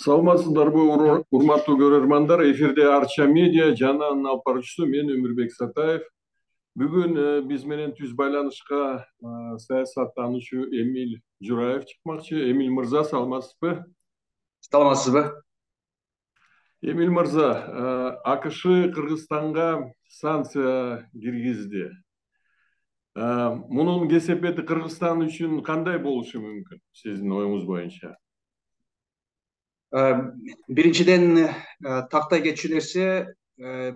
Саламатсыздарбы, урматтуу көрөрмандар. Эфирде Арча медиа жана анын алып баруучусу мен Өмүрбек Сатаев. Бүгүн биз менен түз байланышка саясаттануучу Эмиль Жураев чыкмакчы. Эмиль мырза, саламатсызбы? Саламатсызбы? Эмиль мырза, АКШ Кыргызстанга санкция киргизди. Мунун кесепети Кыргызстан үчүн кандай болушу мүмкүн, сиздин оюңуз боюнча? Биринчиден тактай кетчү нерсе,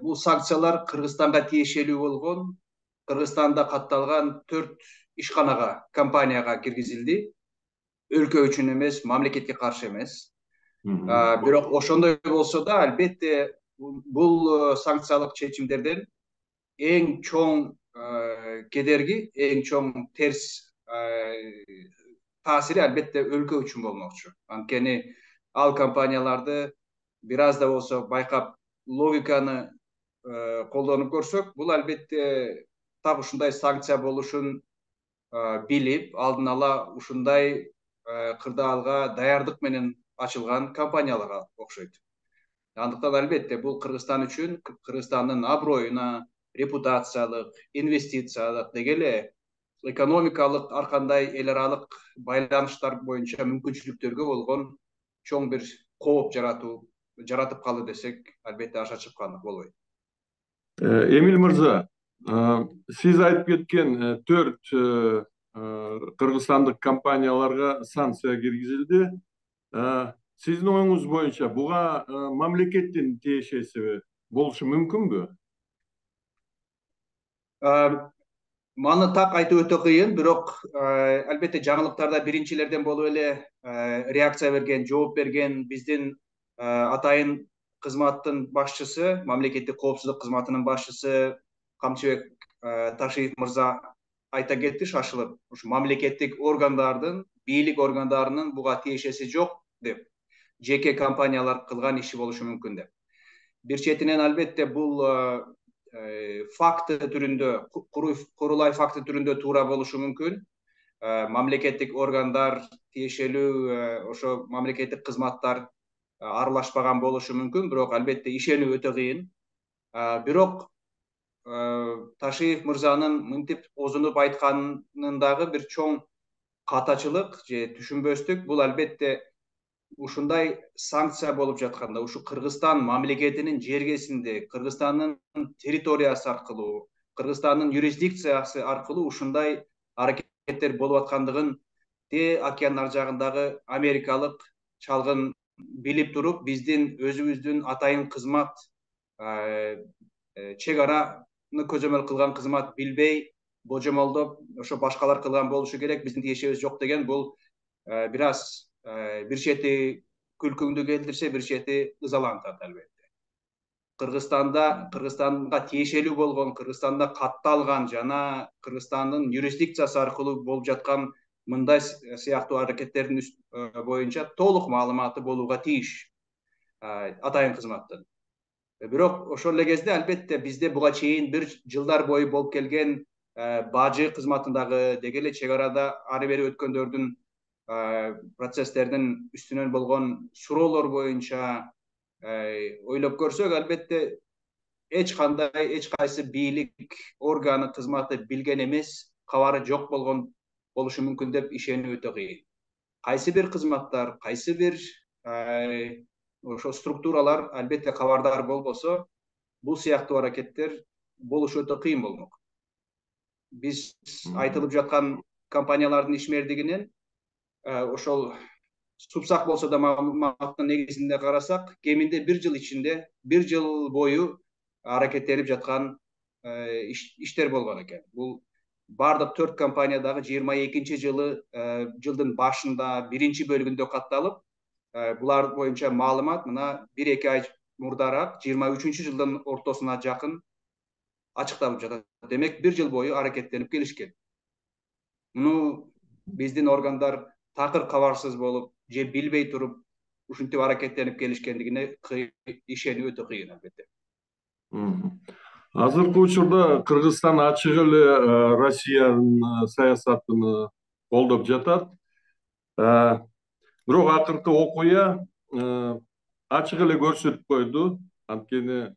бул санкциялар Кыргызстанга тиешелүү болгон, Кыргызстанда катталган 4 ишканага, компанияга киргизилди. Өлкө үчүн эмес, мамлекетке каршы эмес. Бирок ошондой болсо да, албетте бул санкциялык чечимдерден эң чоң кедерги, эң чоң терс таасири албетте өлкө үчүн болмокчу. Анткени ал компанияларды бир аз да болсо байкап, логиканы колдонуп көрсөк, бул албетте так ушундай санкция болушун билип, алдын ала ушундай кырдаалга даярдык менен ачылган компанияларга окшойт. Андыктан албетте бул Кыргызстан үчүн, Кыргызстандын аброюна, репутациялык, инвестициялык, деги эле экономикалык ар кандай эл аралык байланыштар боюнча мүмкүнчүлүктөргө болгон чоң бир кооп жаратып калды десек, албетте аша чыккандык болбойт. Эмиль мырза, сиз айтып кеткен 4 кыргызстандык компанияларга санкция киргизилди. Сиздин оюңуз боюнча буга мамлекеттин тиешеси болушу мүмкүнбү? Маны так айтуу өтө кыйын, бирок албетте жаңылыктарда биринчилерден болуп эле реакция берген, жооп берген биздин атайын кызматтын башчысы, мамлекеттик коопсуздук кызматынын башчысы Камчыбек Ташиев мырза айта кетти шашылып, ушу мамлекеттик органдардын, бийлик органдарынын буга тиешеси жок деп, жеке компаниялар кылган иши болушу мүмкүн деп. Бир четинен албетте бул факты түрүндө, курулай факты түрүндө туура болушу мүмкүн. Мамлекеттик органдар тиешелүү ошо мамлекеттик кызматтар аралашпаган болушу мүмкүн, бирок албетте ишенүү өтө кыйын. Бирок Ташиев мырзанын мынтип озунуп айтканындагы бир чоң катачылык же түшүнбөстүк, бул албетте ушундай санкция болуп жатканда, ушу Кыргызстан мамлекетинин жергесинде, Кыргызстандын территориясы аркылуу, Кыргызстандын юрисдикциясы аркылуу ушундай аракеттер болуп аткандыгын океан ар жагындагы америкалык чалгын билип туруп, биздин өзүбүздүн атайын кызмат, чек араны көзөмөл кылган кызмат билбей, божомолдоп, ошо башкалар кылган болушу керек, биздин тиешебиз жок деген, бул бир аз бир чети күлкүңдү келтирсе, бир чети ызалантат албетте. Кыргызстанга тиешелүү болгон, Кыргызстанда катталган жана Кыргызстандын юрисдикциясы аркылуу болуп жаткан мындай сыяктуу аракеттердин боюнча толук маалыматы болууга тийиш атайын кызматтын. Бирок ошол эле кезде албетте бизде буга чейин бир жылдар бою болуп келген бажы кызматындагы, деги эле чек арада ары бери өткөндөрдүн процесстердин үстүнөн болгон суроолор боюнча ойлоп көрсөк, албетте эч кайсы бийлик органы кызматы билген эмес, кабары жок болушу мүмкүн деп ишенүү өтө кыйын. Кайсы бир кызматтар, кайсы бир ошо структуралар албетте кабардар болбосо, бул сыяктуу аракеттер болушу өтө кыйын болмок. Биз айтылып жаткан компаниялардын ишмердигинен ошол супсак болсо да маалыматтын негизинде карасак, кеминде бир жыл ичинде, бир жыл бою аракеттенип жаткан иштер болгон экен. Бул бардык 4 компаниядагы 22 жылдын башында биринчи бөлүгүндө катталып, булар боюнча маалымат мына 1-2 ай мурдараак 23 жылдын ортосуна жакын ачыкталып жатат. Демек, бир жыл бою аракеттенип келишкен. Муну биздин органдар такыр кабарсыз болуп, же билбей туруп ушинтип аракеттенип келишкендигине ишенүү өтө кыйын албетте. Азыркы учурда Кыргызстан ачык эле Россиянын саясатын колдоп жатат. Бирок акыркы окуя ачык эле көрсөтүп койду. Анткени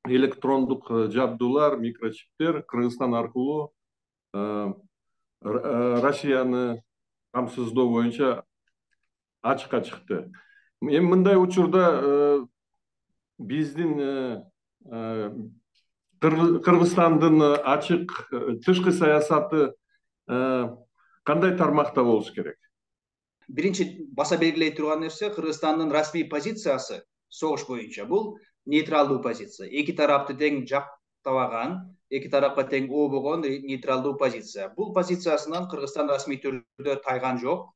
электрондук жабдуулар, микрочиптер Кыргызстан аркылуу Россияны камсыздоо боюнча ачыкка чыкты. Эми мындай учурда биздин Кыргызстандын ачык тышкы саясаты кандай тармакта болуш керек? Биринчи баса белгилей турган нерсе, Кыргызстандын расмий позициясы согуш боюнча бул нейтралдуу позиция. Эки тарапты тең жактабаган, эки тарапка тең обогон нейтралдуу позиция. Бул позициясынан Кыргызстан расмий түрдө тайган жок.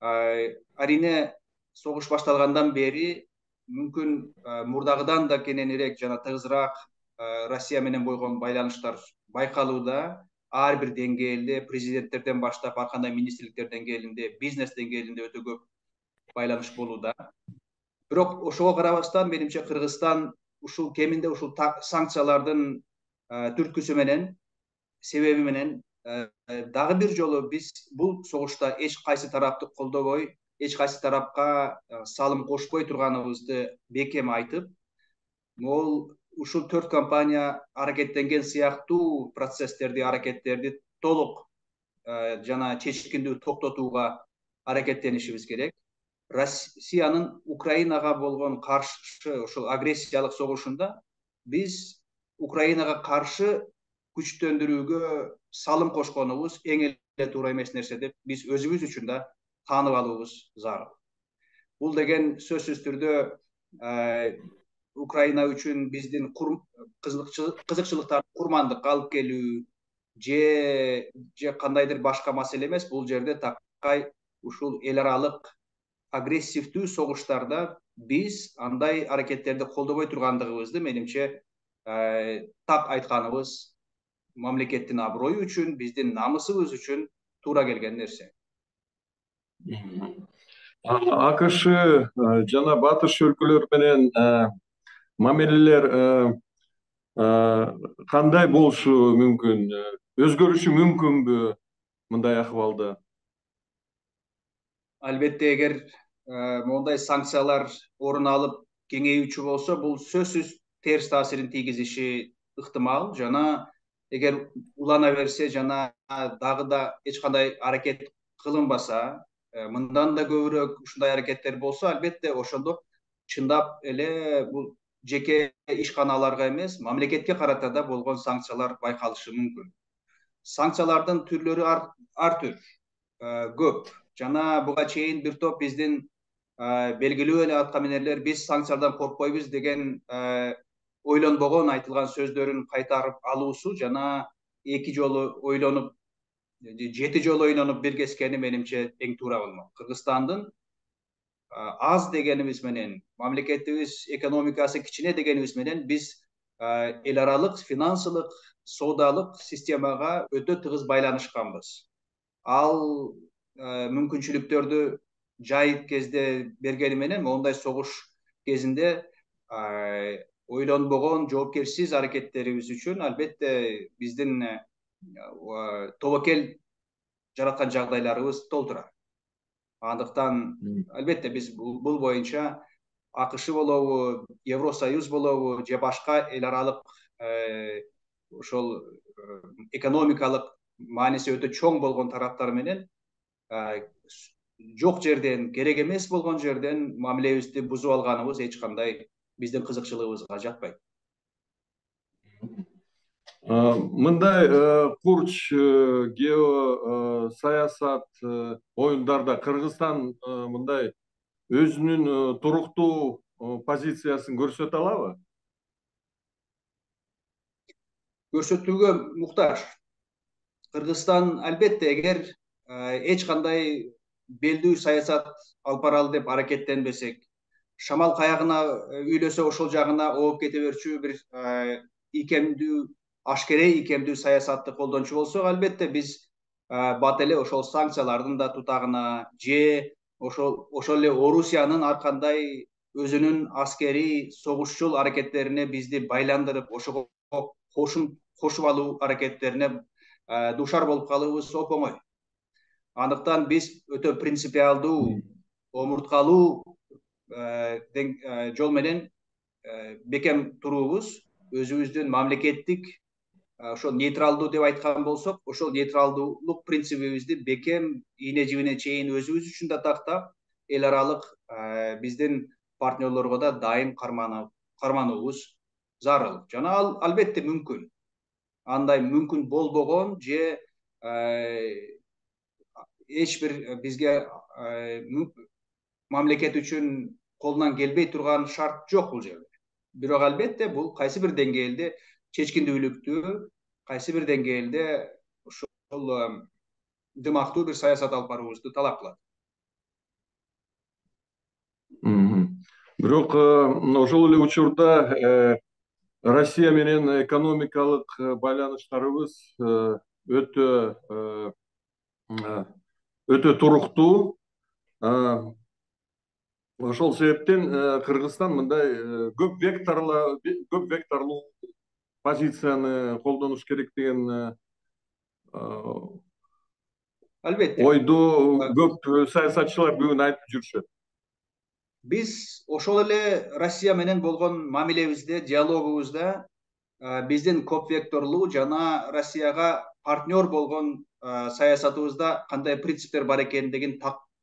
Арине согуш башталгандан бери мүмкүн мурдагыдан да кененирээк жана тыгызыраак Россия менен болгон байланыштар байкалууда. Ар бир деңгээлде, президенттерден баштап ар кандай министрликтер деңгээлинде, бизнес деңгээлинде өтө көп байланыш болууда. Бирок ошого карабастан менимче Кыргызстан ушул кеминде ушул санкциялардын түрткүсү менен, себеби менен дагы бир жолу биз бул согушта эч кайсы тарапты колдобой, эч кайсы тарапка салым кошпой турганыбызды бекем айтып, могул ушул 4 компания аракеттенген сыяктуу процесстерди, аракеттерди толук жана чечкиндүү токтотууга аракеттенишибиз керек. Россиянын Украинага болгон каршы ушул агрессиялык согушунда биз Украинага каршы күчтөндүрүүгө салым кошконубуз эң эле туура эмес нерсе деп биз өзүбүз үчүн да таанып алуубуз зарыл. Бул деген сөзсүз түрдө Украина үчүн биздин кызыкчылыктарды курмандыкка алып келүү же кандайдыр башка маселе эмес. Бул жерде такай ушул эл аралык агрессивдүү согуштарда биз андай аракеттерди колдобой тургандыгыбызды менимче так айтканыбыз мамлекеттин аброю үчүн, биздин намысыбыз үчүн туура келген нерсе. АКШ жана батыш өлкөлөр менен мамилелер кандай болушу мүмкүн? Өзгөрүшү мүмкүнбү мындай акыбалда? Албетте, эгер мондай санкциялар орун алып кеңейүүчү болсо, бул сөзсүз терс таасирин тийгизиши ыктымал. Жана эгер улана берсе жана дагы да эч кандай аракет кылынбаса, мындан да көбүрөөк ушундай аракеттер болсо, албетте ошондо чындап эле бул жеке ишканаларга эмес, мамлекетке карата да болгон санкциялар байкалышы мүмкүн. Санкциялардын түрлөрү ар түр, көп. Жана буга чейин бир топ биздин белгилүү эле аткаминерлер биз санкциялардан коркпойбуз деген ойлонбогон айтылган сөздөрүн кайтарып алуусу жана эки жолу ойлонуп, 7 жолу ойлонуп биргескени менимче эң туура болмок. Кыргызстандын аз дегенибиз менен, мамлекетибиз экономикасы кичине дегенибиз менен биз эл аралык финансылык, соодалык системага өтө тыгыз байланышканбыз. Ал мүмкүнчүлүктөрдү жайыт кезде бергени менен мондай согуш кезинде ойлонбогон жоопкерсиз аракеттерибиз үчүн албетте биздин тобокел жараткан жагдайларыбыз толтура. Андыктан албетте биз бул боюнча АКШ болобу, Евросоюз болобу же башка эл аралык ошол экономикалык мааниси өтө чоң болгон тараптар менен жок жерден, керек эмес болгон жерден мамилебизди бузуп алганыбыз эч кандай биздин кызыкчылыгыбызга жатпайт. Мындай курч геосаясат оюндарда Кыргызстан мындай өзүнүн туруктуу позициясын көрсөтө алабы? Көрсөтүүгө муктаж. Кыргызстан албетте эгер эч кандай белдүү саясат алып баралы деп аракеттенбесек, шамал каягына үйлөсө ошол жагына ооп кете берчү бир ийкемдүү, ашкерей ийкемдүү саясатты колдончу болсок, албетте биз бат эле ошол санкциялардын да тутагына же ошол эле Орусиянын ар кандай өзүнүн аскерий согушчул аракеттерине бизди байландырып, ошого кошуп алуу аракеттерине дуушар болуп калуубуз оп оңой. Андыктан биз өтө принципиалдуу омурткалуу жол менен бекем туруубуз, өзүбүздүн мамлекеттик ошол нейтралдуу деп айткан болсок, ошол нейтралдуулук принцибибизди бекем ийне жибине чейин өзүбүз үчүн да тактап, эл аралык биздин партнерлорго да дайым кармануубуз зарыл. Жана ал албетте мүмкүн. Андай мүмкүн болбогон же эч бир бизге мамлекет үчүн колунан келбей турган шарт жок бул жерде. Бирок албетте бул кайсы бир деңгээлде чечкиндүүлүктү, кайсы бир деңгээлде ошол дымактуу бир саясат алып баруубузду талап кылат. Бирок ошол эле учурда Россия менен экономикалык байланыштарыбыз өтө туруктуу. Ошол себептен Кыргызстан мындай көп векторлуу позицияны колдонуш керек деген Албетте. ойду көп саясатчылар бүгүн айтып жүрүшөт. Биз ошол эле Россия менен болгон мамилебизде, диалогубузда биздин көп векторлуу жана Россияга партнер болгон саясатыбызда кандай принциптер бар экендигин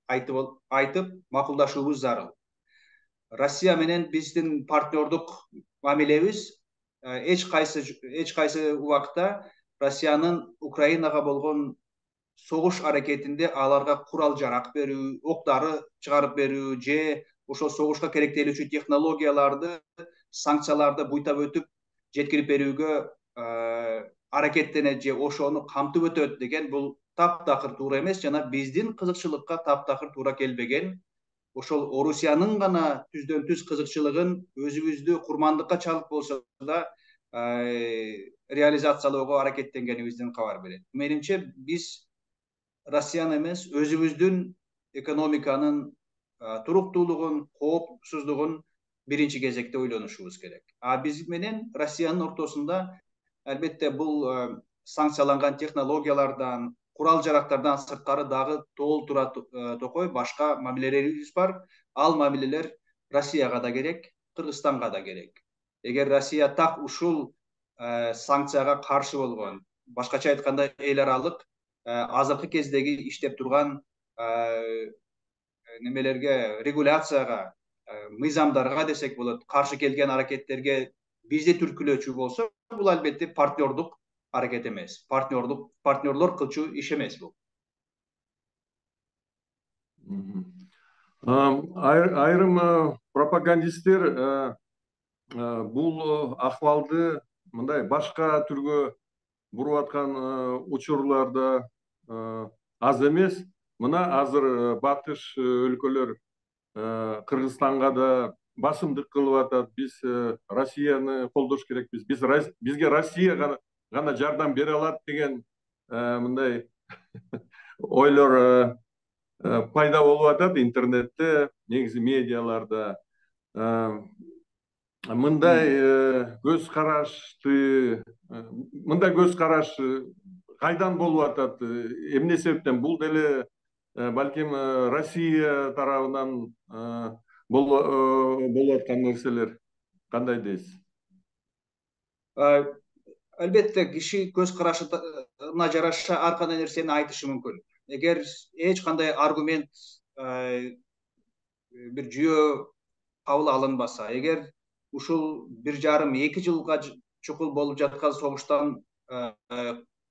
айтып макулдашуубуз зарыл. Россия менен биздин партнердук мамилебиз эч кайсы убакта Россиянын Украинага болгон согуш аракетинде аларга курал жарак берүү, октары чыгарып берүү же ошол согушка керектелүүчү технологияларды, санкцияларды буйтап өтүп жеткирип берүүгө аракеттенет же ошону камтып өтөт деген бул таптакыр туура эмес жана биздин кызыкчылыкка таптакыр туура келбеген. Ошол Орусиянын гана түздөн түз кызыкчылыгын өзүбүздү курмандыкка чалып болсо да реализациялоого аракеттенгенибизден кабар берет. Менимче биз Россияны эмес, өзүбүздүн экономиканын туруктуулугун, коопсуздугун биринчи кезекте ойлонушубуз керек. Биз менен Россиянын ортосунда албетте бул санкцияланган технологиялардан, курал жарактардан сырткары дагы толтура токой башка мамилелерибиз бар. Ал мамилелер Россияга да керек, Кыргызстанга да керек. Эгер Россия так ушул санкцияга каршы болгон, башкача айтканда эл аралык азыркы кездеги иштеп турган немелерге, регуляцияга, мыйзамдарга десек болот, каршы келген аракеттерге бизди түрткүлөөчү болсо, бул албетте партнердук аракет эмес. Партнерлор кылчу иш эмес бул. Айрым пропагандисттер бул акыбалды мындай башка түргө буруп аткан учурларда аз эмес. Мына азыр батыш өлкөлөр Кыргызстанга да басымдык кылып атат. Биз Россияны колдош керекпиз. Бизге Россия гана жардам бере алат деген мындай ойлор пайда болуп атат интернетте, негизи медиаларда. Мындай көз караш кайдан болуп атат? Эмне себептен? Бул деле балким Россия тарабынан болуп аткан нерселер. Кандай дейсиз? Албетте киши көз карашына жараша ар кандай нерсени айтышы мүмкүн. Эгер эч кандай аргумент бир жүйө кабыл алынбаса, эгер ушул 1,5-2 жылга чукул болуп жаткан согуштан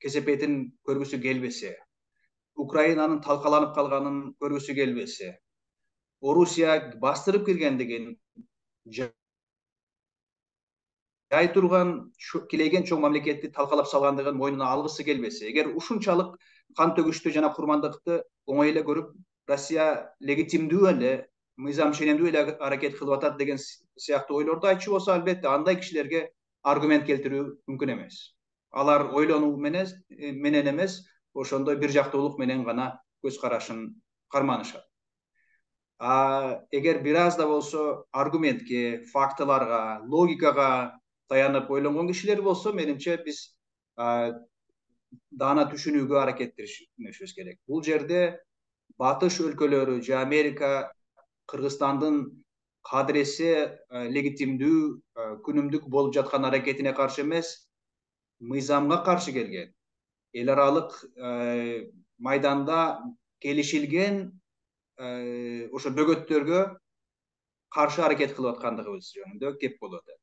кесепетин көргүсү келбесе, Украинанын талкаланып калганын көргүсү келбесе, Орусия бастырып киргендигин жай турган килейген чоң мамлекетти талкалап салгандыгын мойнуна алгысы келбесе, эгер ушунчалык кан төгүштү жана курмандыкты оңой эле көрүп, Россия легитимдүү эле, мыйзам ченемдүү эле аракет кылып атат деген сыяктуу ойлорду айтчу болсо, албетте андай кишилерге аргумент келтирүү мүмкүн эмес. Алар ойлонуу менен эмес, ошондой бир жактуулук менен гана көз карашын карманышат. Эгер бир аз да болсо аргументке, фактыларга, логикага таянып ойлонгон кишилер болсо, менимче биз даана түшүнүүгө аракеттенишибиз керек. Бул жерде батыш өлкөлөрү же Америка Кыргызстандын кадыресе легитимдүү күнүмдүк болуп жаткан аракетине каршы эмес, мыйзамга каршы келген, эл аралык майданда келишилген ошо бөгөттөргө каршы аракет кылып аткандыгыбыз жөнүндө кеп болуп атат.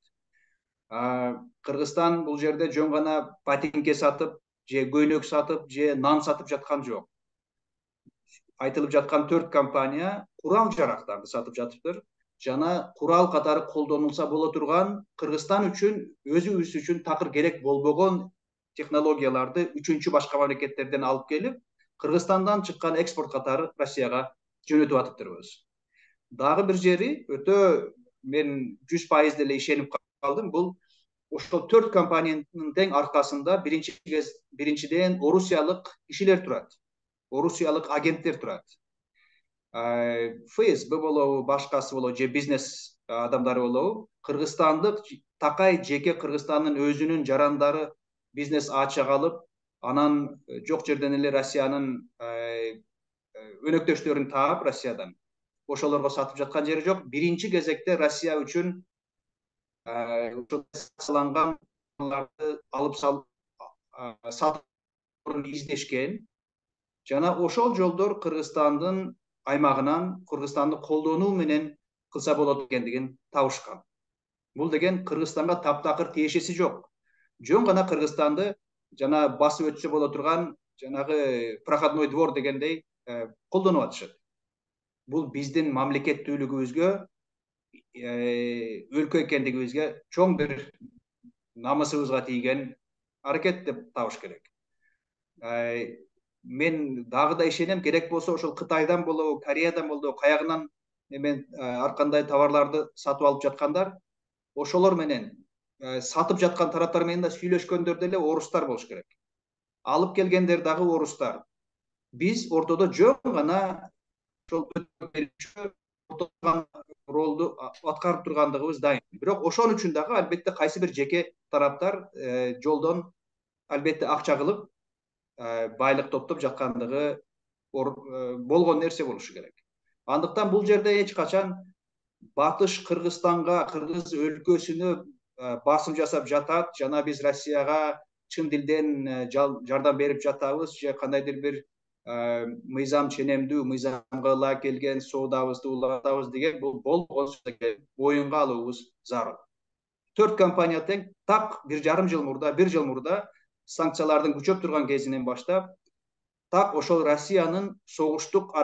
Кыргызстан бул жерде жөн гана ботинке сатып же көйнөк сатып же нан сатып жаткан жок. Айтылып жаткан 4 компания курал жарактарды сатып жатыптыр жана курал катары колдонулса боло турган, Кыргызстан үчүн өзүбүз үчүн такыр керек болбогон технологияларды үчүнчү башка мамлекеттерден алып келип, Кыргызстандан чыккан экспорт катары Россияга жөнөтүп атыптырбыз. Дагы бир жери өтө мен 100% деле ишенип калдым. Бул ошол 4 компаниянын тең аркасында биринчиден орусиялык кишилер турат. Орусиялык агенттер турат. ФСБ болобу, башкасы болобу, же бизнес адамдары болобу, кыргызстандык такай жеке Кыргызстандын өзүнүн жарандары бизнес ачып алып, анан жок жерден эле Россиянын өнөктөштөрүн таап Россиядан ошолорго сатып жаткан жери жок. Биринчи кезекте Россия үчүн санкциялангандарды алып сатып издешкен жана ошол жолдор Кыргызстандын аймагынан Кыргызстанды колдонуу менен кылса болот экендигин табышкан. Бул деген Кыргызстанга таптакыр тиешеси жок. Жөн гана Кыргызстанды жана басып өтсө боло турган жанагы проходной двор дегендей колдонуп атышат. Бул биздин мамлекеттүүлүгүбүзгө, өлкө экендигибизге чоң бир намысыбызга тийген аракет деп табыш керек. Мен дагы да ишенем, керек болсо ошол Кытайдан болобу, Кореядан болобу, каягынан ар кандай товарларды сатып алып жаткандар, ошолор менен сатып жаткан тараптар менен да сүйлөшкөндөр деле орустар болуш керек. Алып келгендер дагы орустар. Биз ортодо жөн гана ошол ролду аткарып тургандыгыбыз дайым. Бирок ошон үчүн дагы албетте кайсы бир жеке тараптар жолдон албетте акча кылып байлык топтоп жаткандыгы болгон нерсе болушу керек. Андыктан бул жерде эч качан батыш Кыргызстанга, кыргыз өлкөсүнө басым жасап жатат жана биз Россияга чын дилден жардам берип жатабыз же кандайдыр бир мыйзам ченемдүү, мыйзамга ылайык келген соодабызды улантабыз деген бул болгон оюнга алуубуз зарыл. 4 компания тең так 1 жыл мурда санкциялардын күчөп турган кезинен баштап так ошол Россиянын согуштук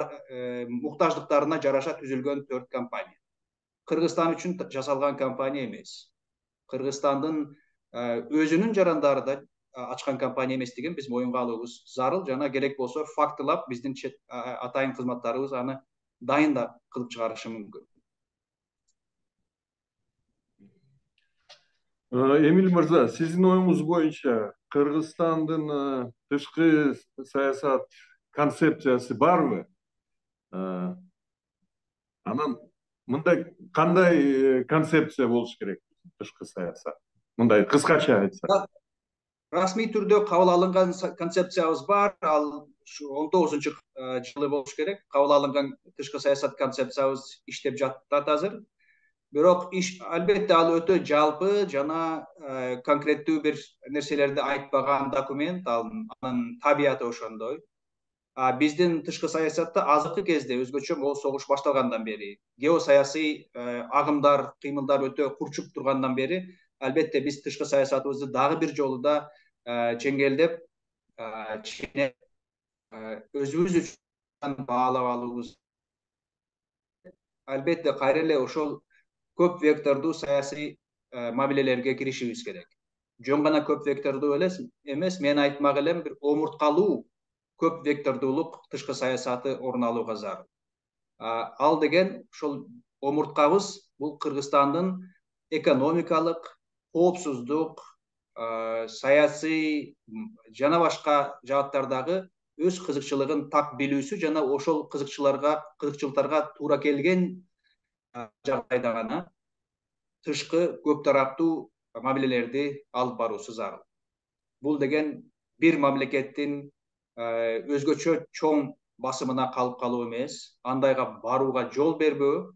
муктаждыктарына жараша түзүлгөн 4 компания. Кыргызстан үчүн жасалган компания эмес. Кыргызстандын өзүнүн жарандары да ачкан компания эместигин биз моюнга алуубуз зарыл жана керек болсо фактылап биздин атайын кызматтарыбыз аны дайын да кылып чыгарышы мүмкүн. Эмил мырза, сиздин оюңуз боюнча Кыргызстандын тышкы саясат концепциясы барбы? Анан мындай кандай концепция болуш керек тышкы саясат? Мындай кыскача айтсак. Расмий түрдө кабыл алынган концепциябыз бар. Ал 19-жылы болуш керек. Кабыл алынган тышкы саясат концепциябыз иштеп жатат азыр. Бирок албетте ал өтө жалпы жана конкреттүү бир нерселерди айтпаган документ, анын табияты ошондой. Биздин тышкы саясатта азыркы кезде өзгөчө могул согуш башталгандан бери, геосаясий агымдар, кыймылдар өтө курчуп тургандан бери, албетте биз тышкы саясатыбызды дагы бир жолу да чеңгелдеп, өзүбүз үчүн баалап алуубуз. Албетте кайра эле ошол көп вектордуу саясий мамилелерге киришибиз керек. Жөн гана көп вектордуу эмес, мен айтмак элем, бир омурткалуу көп вектордуулук тышкы саясаты орун алууга зарыл. Ал деген ошол омурткабыз бул Кыргызстандын экономикалык, коопсуздук, саясий жана башка жааттардагы өз кызыкчылыгын так билүүсү жана ошол кызыкчылыктарга туура келген жагдайда гана тышкы көп тараптуу мамилелерди алып баруусу зарыл. Бул деген бир мамлекеттин өзгөчө чоң басымына калып калуу эмес, андайга барууга жол бербөө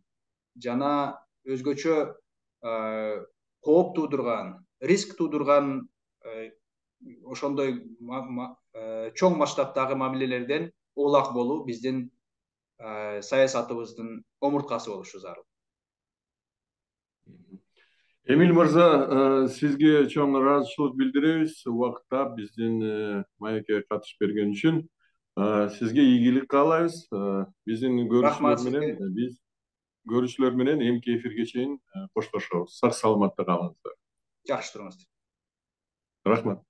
жана өзгөчө кооп туудурган, риск туудурган ошондой чоң масштабтагы мамилелерден улак болуу биздин саясатыбыздын омурткасы болушу зарыл. Эмил мырза, сизге чоң ыраазычылык билдиребиз убакытта биздин маекке катышып берген үчүн. Сизге ийгилик каалайбыз. Биздин көрүүчүлөр менен эмки эфирге чейин коштошобуз. Сак саламатта калыңыздар. Жакшы туруңуздар. Рахмат.